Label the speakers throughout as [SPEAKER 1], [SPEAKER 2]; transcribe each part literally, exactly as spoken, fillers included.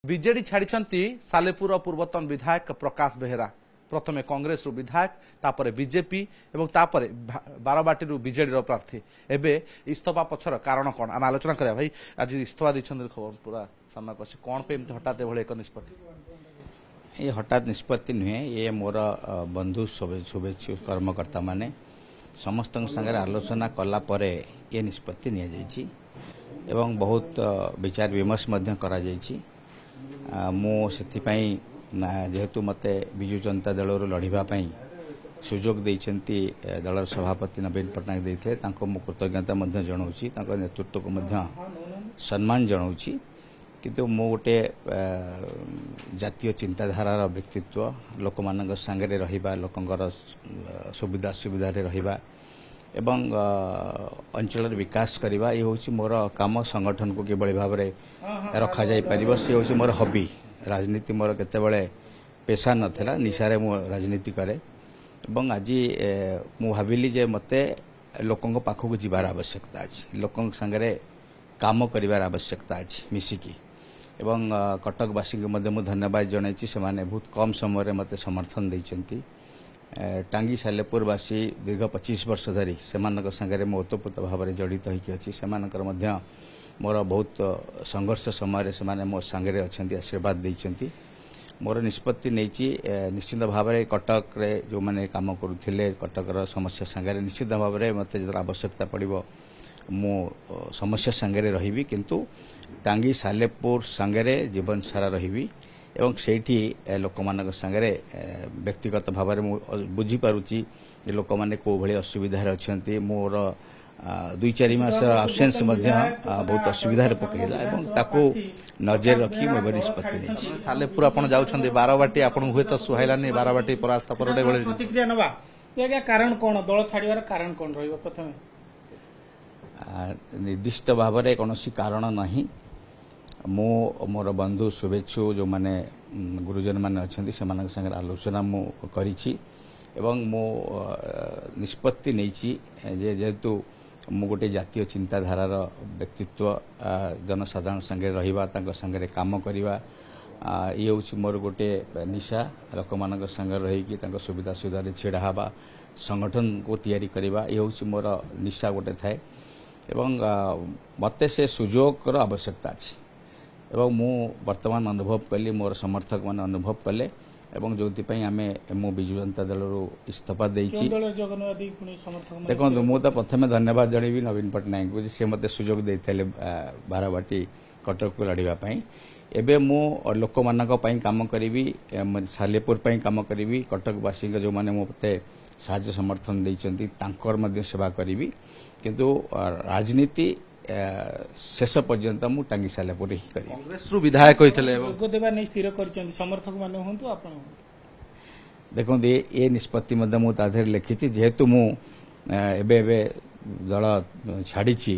[SPEAKER 1] BJD ଛାଡ଼ିଛନ୍ତି ସାଲେପୁର ପୂର୍ବତନ ବିଧାୟକ ପ୍ରକାଶ ବେହେରା। ପ୍ରଥମେ କଂଗ୍ରେସରୁ ବିଧାୟକ, ତାପରେ ବିଜେପି ଏବଂ ତାପରେ ବାରବାଟୀରୁ ବିଜେଡିର ପ୍ରାର୍ଥୀ। ଏବେ ଇସ୍ତଫା ପଛର କାରଣ କ'ଣ, ଆମେ ଆଲୋଚନା କରିବା। ଭାଇ, ଆଜି ଇସ୍ତଫା ଦେଇଛନ୍ତି, ଖବର ପୁରା ସାମ୍ନାକୁ ଅଛି। କ'ଣ ପାଇଁ ଏମିତି ହଠାତ୍ ଏଭଳି ଏକ ନିଷ୍ପତ୍ତି?
[SPEAKER 2] ଏ ହଠାତ୍ ନିଷ୍ପତ୍ତି ନୁହେଁ। ଇଏ ମୋର ବନ୍ଧୁ, ଶୁଭେଚ୍ଛୁ କର୍ମକର୍ତ୍ତାମାନେ ସମସ୍ତଙ୍କ ସାଙ୍ଗରେ ଆଲୋଚନା କଲା ପରେ ଏ ନିଷ୍ପତ୍ତି ନିଆଯାଇଛି ଏବଂ ବହୁତ ବିଚାର ବିମର୍ଶ ମଧ୍ୟ କରାଯାଇଛି। ମୁଁ ସେଥିପାଇଁ, ଯେହେତୁ ମୋତେ ବିଜୁ ଜନତା ଦଳରୁ ଲଢ଼ିବା ପାଇଁ ସୁଯୋଗ ଦେଇଛନ୍ତି, ଦଳର ସଭାପତି ନବୀନ ପଟ୍ଟନାୟକ ଦେଇଥିଲେ, ତାଙ୍କୁ ମୁଁ କୃତଜ୍ଞତା ମଧ୍ୟ ଜଣାଉଛି, ତାଙ୍କ ନେତୃତ୍ୱକୁ ମଧ୍ୟ ସମ୍ମାନ ଜଣାଉଛି। କିନ୍ତୁ ମୁଁ ଗୋଟେ ଜାତୀୟ ଚିନ୍ତାଧାରାର ବ୍ୟକ୍ତିତ୍ୱ। ଲୋକମାନଙ୍କ ସାଙ୍ଗରେ ରହିବା, ଲୋକଙ୍କର ସୁବିଧା ଅସୁବିଧାରେ ରହିବା ଏବଂ ଅଞ୍ଚଳର ବିକାଶ କରିବା, ଏ ହେଉଛି ମୋର କାମ। ସଂଗଠନକୁ କିଭଳି ଭାବରେ ରଖାଯାଇପାରିବ, ସେ ହେଉଛି ମୋର ହବି। ରାଜନୀତି ମୋର କେତେବେଳେ ପେସା ନଥିଲା, ନିଶାରେ ମୁଁ ରାଜନୀତି କରେ। ଏବଂ ଆଜି ମୁଁ ଭାବିଲି ଯେ ମୋତେ ଲୋକଙ୍କ ପାଖକୁ ଯିବାର ଆବଶ୍ୟକତା ଅଛି, ଲୋକଙ୍କ ସାଙ୍ଗରେ କାମ କରିବାର ଆବଶ୍ୟକତା ଅଛି ମିଶିକି। ଏବଂ କଟକବାସୀଙ୍କୁ ମଧ୍ୟ ମୁଁ ଧନ୍ୟବାଦ ଜଣାଇଛି, ସେମାନେ ବହୁତ କମ୍ ସମୟରେ ମୋତେ ସମର୍ଥନ ଦେଇଛନ୍ତି। ଟାଙ୍ଗୀ ସାଲେପୁରବାସୀ ଦୀର୍ଘ ପଚିଶ ବର୍ଷ ଧରି ସେମାନଙ୍କ ସାଙ୍ଗରେ ମୁଁ ଓତପ୍ରୋତ ଭାବରେ ଜଡ଼ିତ ହୋଇକି ଅଛି। ସେମାନଙ୍କର ମଧ୍ୟ ମୋର ବହୁତ ସଂଘର୍ଷ ସମୟରେ ସେମାନେ ମୋ ସାଙ୍ଗରେ ଅଛନ୍ତି, ଆଶୀର୍ବାଦ ଦେଇଛନ୍ତି। ମୋର ନିଷ୍ପତ୍ତି ନେଇଛି, ନିଶ୍ଚିତ ଭାବରେ କଟକରେ ଯେଉଁମାନେ କାମ କରୁଥିଲେ, କଟକର ସମସ୍ୟା ସାଙ୍ଗରେ ନିଶ୍ଚିତ ଭାବରେ ମୋତେ ଯେତେବେଳେ ଆବଶ୍ୟକତା ପଡ଼ିବ ମୁଁ ସମସ୍ୟା ସାଙ୍ଗରେ ରହିବି, କିନ୍ତୁ ଟାଙ୍ଗୀ ସାଲେପୁର ସାଙ୍ଗରେ ଜୀବନ ସାରା ରହିବି ଏବଂ ସେଇଠି ଲୋକମାନଙ୍କ ସାଙ୍ଗରେ ବ୍ୟକ୍ତିଗତ ଭାବରେ ମୁଁ ବୁଝିପାରୁଛି ଯେ ଲୋକମାନେ କେଉଁ ଭଳି ଅସୁବିଧାରେ ଅଛନ୍ତି। ମୋର ଦୁଇ ଚାରି ମାସର ଆବସେନ୍ସ ମଧ୍ୟ ବହୁତ ଅସୁବିଧାରେ ପକାଇଲା ଏବଂ ତାକୁ ନଜର ରଖି ମୁଁ ଏବେ ନିଷ୍ପତ୍ତି ନେଇଛି।
[SPEAKER 1] ସାଲେପୁର ଆପଣ ଯାଉଛନ୍ତି, ବାରବାଟୀ ଆପଣଙ୍କୁ ହୁଏତ ସୁହାଇଲାନି, ବାରବାଟୀ ପରାସ୍ତ ପରେ ଏଭଳି
[SPEAKER 3] ପ୍ରତିକ୍ରିୟା ନେବା ଆଜ୍ଞା। କାରଣ କ'ଣ, ଦଳ ଛାଡ଼ିବାର କାରଣ କ'ଣ ରହିବ? ପ୍ରଥମେ
[SPEAKER 2] ନିର୍ଦ୍ଦିଷ୍ଟ ଭାବରେ କୌଣସି କାରଣ ନାହିଁ। ମୁଁ ମୋର ବନ୍ଧୁ, ଶୁଭେଚ୍ଛୁ ଯେଉଁମାନେ ଗୁରୁଜନମାନେ ଅଛନ୍ତି, ସେମାନଙ୍କ ସାଙ୍ଗରେ ଆଲୋଚନା ମୁଁ କରିଛି ଏବଂ ମୁଁ ନିଷ୍ପତ୍ତି ନେଇଛି ଯେ ଯେହେତୁ ମୁଁ ଗୋଟେ ଜାତୀୟ ଚିନ୍ତାଧାରାର ବ୍ୟକ୍ତିତ୍ୱ, ଜନସାଧାରଣ ସାଙ୍ଗରେ ରହିବା, ତାଙ୍କ ସାଙ୍ଗରେ କାମ କରିବା, ଇଏ ହେଉଛି ମୋର ଗୋଟେ ନିଶା। ଲୋକମାନଙ୍କ ସାଙ୍ଗରେ ରହିକି ତାଙ୍କ ସୁବିଧା ସୁବିଧାରେ ଛିଡ଼ା ହେବା, ସଂଗଠନକୁ ତିଆରି କରିବା, ଇଏ ହେଉଛି ମୋର ନିଶା ଗୋଟେ ଥାଏ। ଏବଂ ମୋତେ ସେ ସୁଯୋଗର ଆବଶ୍ୟକତା ଅଛି ଏବଂ ମୁଁ ବର୍ତ୍ତମାନ ଅନୁଭବ କଲି, ମୋର ସମର୍ଥକମାନେ ଅନୁଭବ କଲେ ଏବଂ ଯେଉଁଥିପାଇଁ ଆମେ ମୁଁ ବିଜୁ ଜନତା ଦଳରୁ ଇସ୍ତଫା ଦେଇଛି। ଦେଖନ୍ତୁ, ମୁଁ ତ ପ୍ରଥମେ ଧନ୍ୟବାଦ ଜଣେଇବି ନବୀନ ପଟ୍ଟନାୟକଙ୍କୁ ଯେ ସେ ମୋତେ ସୁଯୋଗ ଦେଇଥିଲେ ବାରବାଟୀ କଟକକୁ ଲଢ଼ିବା ପାଇଁ। ଏବେ ମୁଁ ଲୋକମାନଙ୍କ ପାଇଁ କାମ କରିବି, ସାଲେପୁର ପାଇଁ କାମ କରିବି, କଟକବାସୀଙ୍କ ଯେଉଁମାନେ ମୋତେ ସାହାଯ୍ୟ ସମର୍ଥନ ଦେଇଛନ୍ତି ତାଙ୍କର ମଧ୍ୟ ସେବା କରିବି। କିନ୍ତୁ ରାଜନୀତି ଶେଷ ପର୍ଯ୍ୟନ୍ତ ମୁଁ ଟାଙ୍ଗୀ ସାଲେପୁରରେ ହିଁ କରିବି।
[SPEAKER 1] କଂଗ୍ରେସରୁ ବିଧାୟକ ହୋଇଥିଲେ,
[SPEAKER 3] ଯୋଗ ଦେବା ନେଇ ସ୍ଥିର କରିଛନ୍ତି ସମର୍ଥକମାନେ ହୁଅନ୍ତୁ, ଆପଣ ହୁଅନ୍ତୁ?
[SPEAKER 2] ଦେଖନ୍ତୁ, ଏ ନିଷ୍ପତ୍ତି ମଧ୍ୟ ମୁଁ ତା ଦେହରେ ଲେଖିଛି। ଯେହେତୁ ମୁଁ ଏବେ ଏବେ ଦଳ ଛାଡ଼ିଛି,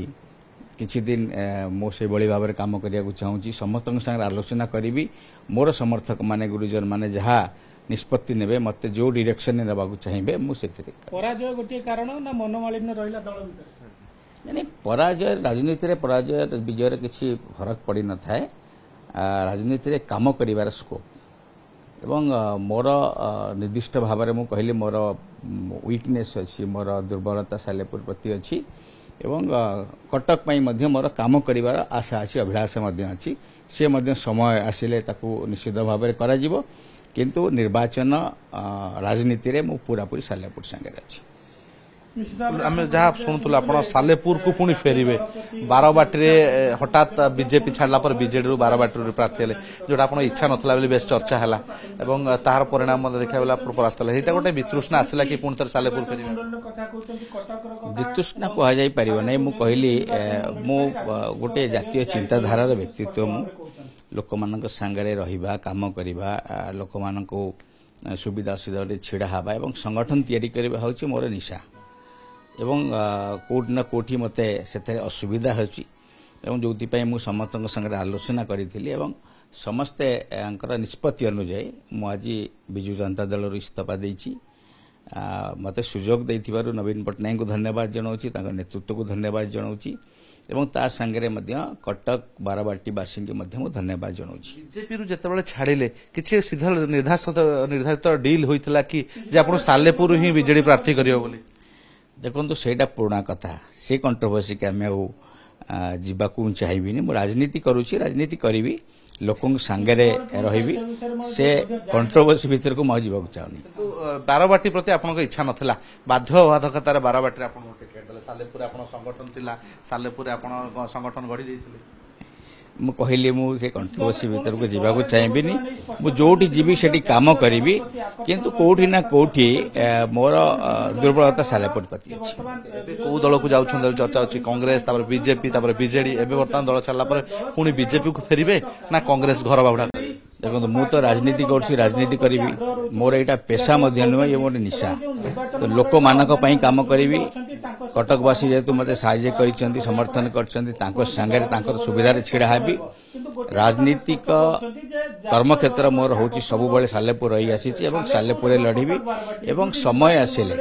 [SPEAKER 2] କିଛି ଦିନ ମୁଁ ସେଇଭଳି ଭାବରେ କାମ କରିବାକୁ ଚାହୁଁଛି। ସମସ୍ତଙ୍କ ସାଙ୍ଗରେ ଆଲୋଚନା କରିବି। ମୋର ସମର୍ଥକମାନେ, ଗୁରୁଜନମାନେ ଯାହା ନିଷ୍ପତ୍ତି ନେବେ, ମୋତେ ଯେଉଁ ଡିରେକ୍ସନରେ ନେବାକୁ ଚାହିଁବେ, ମୁଁ ସେଥିରେ।
[SPEAKER 3] ପରାଜୟ ଗୋଟିଏ କାରଣ ନା ମନୋମାଳିନ୍ୟ ରହିଲା ଦଳ ଭିତରେ?
[SPEAKER 2] ନାଇଁ, ପରାଜୟ, ରାଜନୀତିରେ ପରାଜୟ ବିଜୟର କିଛି ଫରକ ପଡ଼ିନଥାଏ। ରାଜନୀତିରେ କାମ କରିବାର ସ୍କୋପ୍ ଏବଂ ମୋର ନିର୍ଦ୍ଦିଷ୍ଟ ଭାବରେ ମୁଁ କହିଲି ମୋର ୱିକନେସ୍ ଅଛି, ମୋର ଦୁର୍ବଳତା ସାଲେପୁର ପ୍ରତି ଅଛି ଏବଂ କଟକ ପାଇଁ ମଧ୍ୟ ମୋର କାମ କରିବାର ଆଶା ଅଛି, ଅଭିଳାଷ ମଧ୍ୟ ଅଛି। ସେ ମଧ୍ୟ ସମୟ ଆସିଲେ ତାକୁ ନିଶ୍ଚିତ ଭାବରେ କରାଯିବ, କିନ୍ତୁ ନିର୍ବାଚନ ରାଜନୀତିରେ ମୁଁ ପୁରାପୁରି ସାଲେପୁର ସାଙ୍ଗରେ ଅଛି।
[SPEAKER 1] ଆମେ ଯାହା ଶୁଣୁଥିଲୁ, ଆପଣ ସାଲେପୁରକୁ ପୁଣି ଫେରିବେ। ବାରବାଟୀରେ ହଠାତ୍ ବିଜେପି ଛାଡ଼ିଲା ପରେ ବିଜେଡିରୁ ବାରବାଟୀରୁ ପ୍ରାର୍ଥୀ ହେଲେ, ଯୋଉଟା ଆପଣଙ୍କ ଇଚ୍ଛା ନଥିଲା ବୋଲି ବେଶ ଚର୍ଚ୍ଚା ହେଲା ଏବଂ ତାହାର ପରିଣାମ ମଧ୍ୟ ଦେଖିବାକୁ ଗଲା ଆପଣ ପରାସ୍ତ ହେଲେ। ସେଇଟା ଗୋଟେ ବିତୃଷ୍ଣା ଆସିଲା କି ପୁଣି ଥରେ ସାଲେପୁର ଫେରିବେ?
[SPEAKER 2] ବିତୃଷ୍ଣା କୁହାଯାଇ ପାରିବ ନାହିଁ। ମୁଁ କହିଲି, ମୁଁ ଗୋଟେ ଜାତୀୟ ଚିନ୍ତାଧାରାର ବ୍ୟକ୍ତିତ୍ୱ। ମୁଁ ଲୋକମାନଙ୍କ ସାଙ୍ଗରେ ରହିବା, କାମ କରିବା, ଲୋକମାନଙ୍କୁ ସୁବିଧା ଅସୁବିଧାରେ ଛିଡ଼ା ହେବା ଏବଂ ସଂଗଠନ ତିଆରି କରିବା ହେଉଛି ମୋର ନିଶା। ଏବଂ କେଉଁଠି ନା କେଉଁଠି ମୋତେ ସେଥିରେ ଅସୁବିଧା ହେଉଛି ଏବଂ ଯେଉଁଥିପାଇଁ ମୁଁ ସମସ୍ତଙ୍କ ସାଙ୍ଗରେ ଆଲୋଚନା କରିଥିଲି ଏବଂ ସମସ୍ତେଙ୍କର ନିଷ୍ପତ୍ତି ଅନୁଯାୟୀ ମୁଁ ଆଜି ବିଜୁ ଜନତା ଦଳରୁ ଇସ୍ତଫା ଦେଇଛି। ମୋତେ ସୁଯୋଗ ଦେଇଥିବାରୁ ନବୀନ ପଟ୍ଟନାୟକଙ୍କୁ ଧନ୍ୟବାଦ ଜଣାଉଛି, ତାଙ୍କ ନେତୃତ୍ୱକୁ ଧନ୍ୟବାଦ ଜଣାଉଛି ଏବଂ ତା ସାଙ୍ଗରେ ମଧ୍ୟ କଟକ ବାରବାଟୀବାସୀଙ୍କୁ ମଧ୍ୟ ମୁଁ ଧନ୍ୟବାଦ ଜଣାଉଛି।
[SPEAKER 1] ବିଜେପିରୁ ଯେତେବେଳେ ଛାଡ଼ିଲେ କିଛି ସିଧା ନିର୍ଦ୍ଧାରିତ ନିର୍ଦ୍ଧାରିତ ଡିଲ୍ ହୋଇଥିଲା କି ଯେ ଆପଣ ସାଲେପୁର ହିଁ ବିଜେଡି ପ୍ରାର୍ଥୀ କରିବ ବୋଲି?
[SPEAKER 2] ଦେଖନ୍ତୁ, ସେଇଟା ପୁରୁଣା କଥା, ସେ କଣ୍ଟ୍ରୋଭର୍ସିକି ଆମେ ଆଉ ଯିବାକୁ ମୁଁ ଚାହିଁବିନି। ମୁଁ ରାଜନୀତି କରୁଛି, ରାଜନୀତି କରିବି, ଲୋକଙ୍କ ସାଙ୍ଗରେ ରହିବି, ସେ କଣ୍ଟ୍ରୋଭର୍ସି ଭିତରକୁ ମୁଁ ଆଉ ଯିବାକୁ ଚାହୁଁନି।
[SPEAKER 1] କିନ୍ତୁ ବାରବାଟୀ ପ୍ରତି ଆପଣଙ୍କ ଇଚ୍ଛା ନଥିଲା, ବାଧ୍ୟବାଧକତାରେ ବାରବାଟୀରେ ଆପଣଙ୍କୁ ଟିକେଟ୍ ଦେଲେ। ସାଲେପୁରରେ ଆପଣ ସଂଗଠନ ଥିଲା, ସାଲେପୁରରେ ଆପଣ ସଂଗଠନ ଗଢ଼ି ଦେଇଥିଲେ।
[SPEAKER 2] ମୁଁ କହିଲି ମୁଁ ସେ କଣ୍ଟ୍ରୋଭର୍ସି ଭିତରକୁ ଯିବାକୁ ଚାହିଁବିନି। ମୁଁ ଯୋଉଠି ଯିବି ସେଠି କାମ କରିବି, କିନ୍ତୁ କୋଉଠି ନା କୋଉଠି ମୋର ଦୁର୍ବଳତା ସାଲେପୁର ପ୍ରତି ଅଛି।
[SPEAKER 1] ଏବେ କୋଉ ଦଳକୁ ଯାଉଛନ୍ତି ଚର୍ଚ୍ଚା ଅଛି, କଂଗ୍ରେସ, ତାପରେ ବିଜେପି, ତାପରେ ବିଜେଡି। ଏବେ ବର୍ତ୍ତମାନ ଦଳ ଛାଡ଼ିଲା ପରେ ପୁଣି ବିଜେପିକୁ ଫେରିବେ ନା କଂଗ୍ରେସ ଘର ବାହୁଡ଼ା?
[SPEAKER 2] ଦେଖନ୍ତୁ, ମୁଁ ତ ରାଜନୀତି କରୁଛି, ରାଜନୀତି କରିବି। ମୋର ଏଇଟା ପେସା ମଧ୍ୟ ନୁହେଁ, ଇଏ ମୋର ନିଶା। ତ ଲୋକମାନଙ୍କ ପାଇଁ କାମ କରିବି। କଟକବାସୀ ଯେହେତୁ ମୋତେ ସାହାଯ୍ୟ କରିଛନ୍ତି, ସମର୍ଥନ କରିଛନ୍ତି, ତାଙ୍କ ସାଙ୍ଗରେ ତାଙ୍କର ସୁବିଧାରେ ଛିଡ଼ା ହେବି। ରାଜନୀତିକ କର୍ମକ୍ଷେତ୍ର ମୋର ହେଉଛି ସବୁବେଳେ ସାଲେପୁର ରହି ଆସିଛି ଏବଂ ସାଲେପୁରରେ ଲଢ଼ିବି। ଏବଂ ସମୟ ଆସିଲେ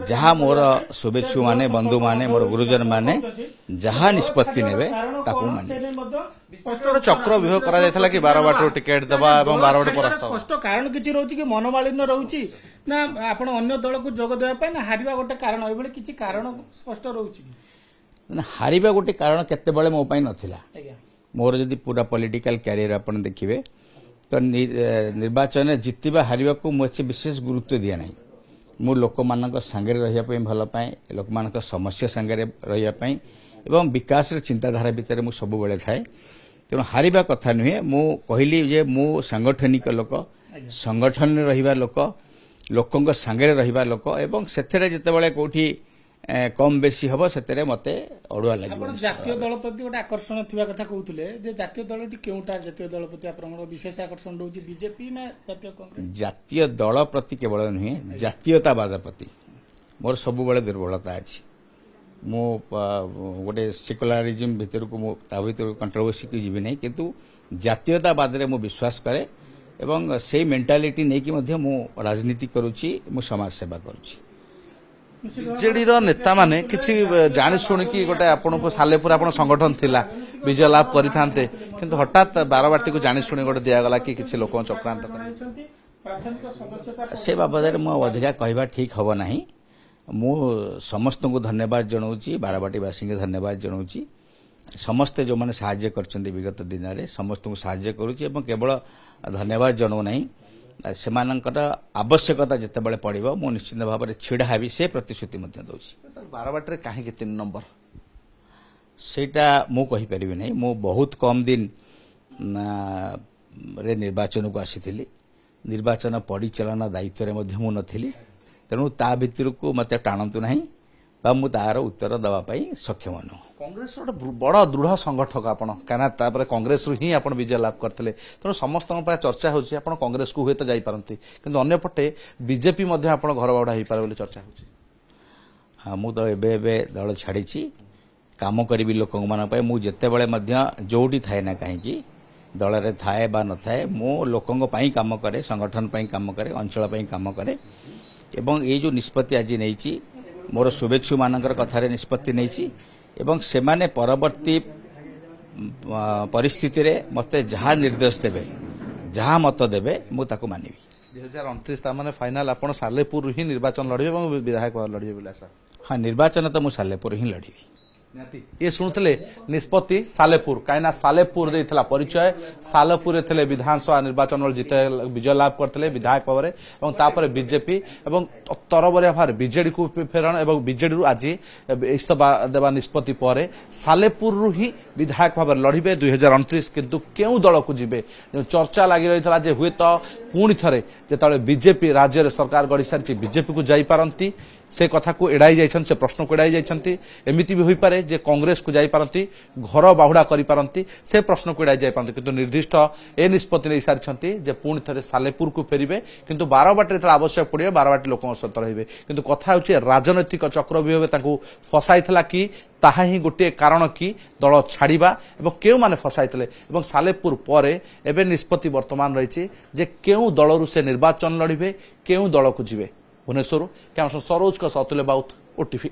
[SPEAKER 2] ଯାହା ମୋର ଶୁଭେଚ୍ଛୁମାନେ, ବନ୍ଧୁମାନେ, ମୋର ଗୁରୁଜନମାନେ ଯାହା ନିଷ୍ପତ୍ତି ନେବେ ତାକୁ ମୁଁ ମାନିବି।
[SPEAKER 1] ଗୋଟେ ଚକ୍ର ବ୍ୟୁହ କରାଯାଇଥିଲା କି ବାରବାଟୀରୁ ଟିକେଟ୍ ଦେବା ଏବଂ ବାରବାଟୀ ପରାସ୍ତ?
[SPEAKER 3] ସ୍ପଷ୍ଟ କାରଣ କିଛି ରହୁଛି କି ମନୋମାଳିନ୍ୟ ରହୁଛି ନା ଆପଣ ଅନ୍ୟ ଦଳକୁ ଯୋଗ ଦେବା ପାଇଁ, ନା ହାରିବା ଗୋଟେ କାରଣ, ଏଭଳି କିଛି କାରଣ ସ୍ପଷ୍ଟ ରହୁଛି?
[SPEAKER 2] ହାରିବା ଗୋଟେ କାରଣ କେତେବେଳେ ମୋ ପାଇଁ ନଥିଲା। ମୋର ଯଦି ପୁରା ପଲିଟିକାଲ କ୍ୟାରିୟର ଆପଣ ଦେଖିବେ ତ ନିର୍ବାଚନରେ ଜିତିବା ହାରିବାକୁ ମୁଁ ଏତେ ବିଶେଷ ଗୁରୁତ୍ୱ ଦିଏ ନାହିଁ। ମୁଁ ଲୋକମାନଙ୍କ ସାଙ୍ଗରେ ରହିବା ପାଇଁ ଭଲ ପାଏ, ଲୋକମାନଙ୍କ ସମସ୍ୟା ସାଙ୍ଗରେ ରହିବା ପାଇଁ ଏବଂ ବିକାଶର ଚିନ୍ତାଧାରା ଭିତରେ ମୁଁ ସବୁବେଳେ ଥାଏ। ତେଣୁ ହାରିବା କଥା ନୁହେଁ। ମୁଁ କହିଲି ଯେ ମୁଁ ସାଙ୍ଗଠନିକ ଲୋକ, ସଂଗଠନରେ ରହିବା ଲୋକ, ଲୋକଙ୍କ ସାଙ୍ଗରେ ରହିବା ଲୋକ, ଏବଂ ସେଥିରେ ଯେତେବେଳେ କୋଉଠି କମ୍ ବେଶୀ ହବ ସେଥିରେ ମତେ ଅଡୁଆ ଲାଗିବ।
[SPEAKER 3] ଜାତୀୟ ଦଳ ପ୍ରତି ଗୋଟେ ଆକର୍ଷଣ ଥିବା କଥା କହୁଥିଲେ, ଯେ ଜାତୀୟ ଦଳଟି କେଉଁଟା? ଜାତୀୟ ଦଳ ପ୍ରତି ଆପଣଙ୍କର ବିଶେଷ ଆକର୍ଷଣ ରହୁଛି ବିଜେପି ନା ଜାତୀୟ କଂଗ୍ରେସ?
[SPEAKER 2] ଜାତୀୟ ଦଳ ପ୍ରତି କେବଳ ନୁହେଁ, ଜାତୀୟତାବାଦ ପ୍ରତି ମୋର ସବୁବେଳେ ଦୁର୍ବଳତା ଅଛି। ମୁଁ ଗୋଟେ ସେକୁଲାରିଜିମ୍ ଭିତରକୁ, ମୁଁ ତା ଭିତରକୁ କଣ୍ଟ୍ରୋଭର୍ସିକୁ ଯିବି ନାହିଁ, କିନ୍ତୁ ଜାତୀୟତାବାଦରେ ମୁଁ ବିଶ୍ୱାସ କରେ ଏବଂ ସେଇ ମେଣ୍ଟାଲିଟି ନେଇକି ମଧ୍ୟ ମୁଁ ରାଜନୀତି କରୁଛି, ମୁଁ ସମାଜ ସେବା କରୁଛି।
[SPEAKER 1] ବିଜେଡିର ନେତାମାନେ କିଛି ଜାଣି ଶୁଣିକି ଗୋଟେ ଆପଣଙ୍କୁ ସାଲେପୁର ଆପଣ ସଂଗଠନ ଥିଲା, ବିଜୟ ଲାଭ କରିଥାନ୍ତେ, କିନ୍ତୁ ହଠାତ୍ ବାରବାଟୀକୁ ଜାଣି ଶୁଣି ଗୋଟେ ଦିଆଗଲା କି କିଛି ଲୋକଙ୍କ ଚକ୍ରାନ୍ତ କରି?
[SPEAKER 2] ସେ ବାବଦରେ ମୁଁ ଅଧିକା କହିବା ଠିକ୍ ହବ ନାହିଁ। ମୁଁ ସମସ୍ତଙ୍କୁ ଧନ୍ୟବାଦ ଜଣାଉଛି, ବାରବାଟୀବାସୀଙ୍କୁ ଧନ୍ୟବାଦ ଜଣାଉଛି, ସମସ୍ତେ ଯେଉଁମାନେ ସାହାଯ୍ୟ କରିଛନ୍ତି ବିଗତ ଦିନରେ ସମସ୍ତଙ୍କୁ ସାହାଯ୍ୟ କରୁଛି ଏବଂ କେବଳ ଧନ୍ୟବାଦ ଜଣାଉନାହିଁ, ସେମାନଙ୍କର ଆବଶ୍ୟକତା ଯେତେବେଳେ ପଡ଼ିବ ମୁଁ ନିଶ୍ଚିତ ଭାବରେ ଛିଡ଼ା ହେବି, ସେ ପ୍ରତିଶ୍ରୁତି ମଧ୍ୟ ଦେଉଛି।
[SPEAKER 1] ବାରବାଟୀରେ କାହିଁକି ତିନି ନମ୍ବର?
[SPEAKER 2] ସେଇଟା ମୁଁ କହିପାରିବି ନାହିଁ। ମୁଁ ବହୁତ କମ୍ ଦିନ ରେ ନିର୍ବାଚନକୁ ଆସିଥିଲି, ନିର୍ବାଚନ ପରିଚାଳନା ଦାୟିତ୍ୱରେ ମଧ୍ୟ ମୁଁ ନଥିଲି, ତେଣୁ ତା ଭିତରକୁ ମୋତେ ଟାଣନ୍ତୁ ନାହିଁ ବା ମୁଁ ତାର ଉତ୍ତର ଦେବା ପାଇଁ ସକ୍ଷମ ନୁହଁ।
[SPEAKER 1] କଂଗ୍ରେସର ଗୋଟେ ବଡ଼ ଦୃଢ଼ ସଂଗଠକ ଆପଣ, କାହିଁକିନା ତାପରେ କଂଗ୍ରେସରୁ ହିଁ ଆପଣ ବିଜୟ ଲାଭ କରିଥିଲେ, ତେଣୁ ସମସ୍ତଙ୍କ ପାଇଁ ଚର୍ଚ୍ଚା ହେଉଛି ଆପଣ କଂଗ୍ରେସକୁ ହୁଏତ ଯାଇପାରନ୍ତି, କିନ୍ତୁ ଅନ୍ୟପଟେ ବିଜେପି ମଧ୍ୟ ଆପଣ ଘର ବାହୁଡ଼ା ହେଇପାରେ ବୋଲି ଚର୍ଚ୍ଚା ହେଉଛି।
[SPEAKER 2] ମୁଁ ତ ଏବେ ଏବେ ଦଳ ଛାଡ଼ିଛି, କାମ କରିବି ଲୋକମାନଙ୍କ ପାଇଁ। ମୁଁ ଯେତେବେଳେ ମଧ୍ୟ ଯୋଉଠି ଥାଏ ନା କାହିଁକି, ଦଳରେ ଥାଏ ବା ନଥାଏ, ମୁଁ ଲୋକଙ୍କ ପାଇଁ କାମ କରେ, ସଂଗଠନ ପାଇଁ କାମ କରେ, ଅଞ୍ଚଳ ପାଇଁ କାମ କରେ। ଏବଂ ଏଇ ଯେଉଁ ନିଷ୍ପତ୍ତି ଆଜି ନେଇଛି, ମୋର ଶୁଭେଚ୍ଛୁମାନଙ୍କର କଥାରେ ନିଷ୍ପତ୍ତି ନେଇଛି ଏବଂ ସେମାନେ ପରବର୍ତ୍ତୀ ପରିସ୍ଥିତିରେ ମୋତେ ଯାହା ନିର୍ଦ୍ଦେଶ ଦେବେ, ଯାହା ମତ ଦେବେ, ମୁଁ ତାକୁ ମାନିବି।
[SPEAKER 1] ଦୁଇ ହଜାର ଅଣତିରିଶ ତା ମାନେ ଫାଇନାଲ ଆପଣ ସାଲେପୁରରୁ ହିଁ ନିର୍ବାଚନ ଲଢ଼ିବେ ଏବଂ ବିଧାୟକ ଲଢ଼ିବେ ବୋଲି ଆଶା?
[SPEAKER 2] ହଁ, ନିର୍ବାଚନ ତ ମୁଁ ସାଲେପୁର ହିଁ ଲଢ଼ିବି।
[SPEAKER 1] ଇଏ ଶୁଣୁଥିଲେ ନିଷ୍ପତ୍ତି ସାଲେପୁର, କାହିଁକିନା ସାଲେପୁର ଦେଇଥିଲା ପରିଚୟ, ସାଲେପୁରରେ ଥିଲେ ବିଧାନସଭା ନିର୍ବାଚନ ଜିତେ ବିଜୟ ଲାଭ କରିଥିଲେ ବିଧାୟକ ଭାବରେ ଏବଂ ତାପରେ ବିଜେପି ଏବଂ ତରବରିଆ ଭାବରେ ବିଜେଡିକୁ ଫେରଣ ଏବଂ ବିଜେଡିରୁ ଆଜି ଇସ୍ତଫା ଦେବା ନିଷ୍ପତ୍ତି ପରେ ସାଲେପୁରରୁ ହିଁ ବିଧାୟକ ଭାବରେ ଲଢ଼ିବେ ଦୁଇ ହଜାର ଅଣତିରିଶ। କିନ୍ତୁ କେଉଁ ଦଳକୁ ଯିବେ ଚର୍ଚ୍ଚା ଲାଗି ରହିଥିଲା ଯେ ହୁଏତ ପୁଣି ଥରେ ଯେତେବେଳେ ବିଜେପି ରାଜ୍ୟରେ ସରକାର ଗଢ଼ି ସାରିଛି ବିଜେପିକୁ ଯାଇପାରନ୍ତି, ସେ କଥାକୁ ଏଡ଼ାଇ ଯାଇଛନ୍ତି, ସେ ପ୍ରଶ୍ନକୁ ଏଡ଼ାଇ ଯାଇଛନ୍ତି। ଏମିତି ବି ହୋଇପାରେ ଯେ କଂଗ୍ରେସକୁ ଯାଇପାରନ୍ତି, ଘର ବାହୁଡ଼ା କରିପାରନ୍ତି, ସେ ପ୍ରଶ୍ନକୁ ଏଡ଼ାଇ ଯାଇପାରନ୍ତି, କିନ୍ତୁ ନିର୍ଦ୍ଦିଷ୍ଟ ଏ ନିଷ୍ପତ୍ତି ନେଇସାରିଛନ୍ତି ଯେ ପୁଣି ଥରେ ସାଲେପୁରକୁ ଫେରିବେ, କିନ୍ତୁ ବାରବାଟୀରେ ଯେତେବେଳେ ଆବଶ୍ୟକ ପଡ଼ିବ ବାରବାଟୀ ଲୋକଙ୍କ ସହିତ ରହିବେ। କିନ୍ତୁ କଥା ହେଉଛି ରାଜନୈତିକ ଚକ୍ରବ୍ୟୁହରେ ତାଙ୍କୁ ଫସାଇଥିଲା କି, ତାହା ହିଁ ଗୋଟିଏ କାରଣ କି ଦଳ ଛାଡ଼ିବା ଏବଂ କେଉଁମାନେ ଫସାଇଥିଲେ। ଏବଂ ସାଲେପୁର ପରେ ଏବେ ନିଷ୍ପତ୍ତି ବର୍ତ୍ତମାନ ରହିଛି ଯେ କେଉଁ ଦଳରୁ ସେ ନିର୍ବାଚନ ଲଢ଼ିବେ, କେଉଁ ଦଳକୁ ଯିବେ। ଭୁବନେଶ୍ୱରରୁ କ୍ୟାମେରା ସରୋଜଙ୍କ ସହ ଅତୁଲ୍ୟ ବାଉତ, ଓଟିଭି।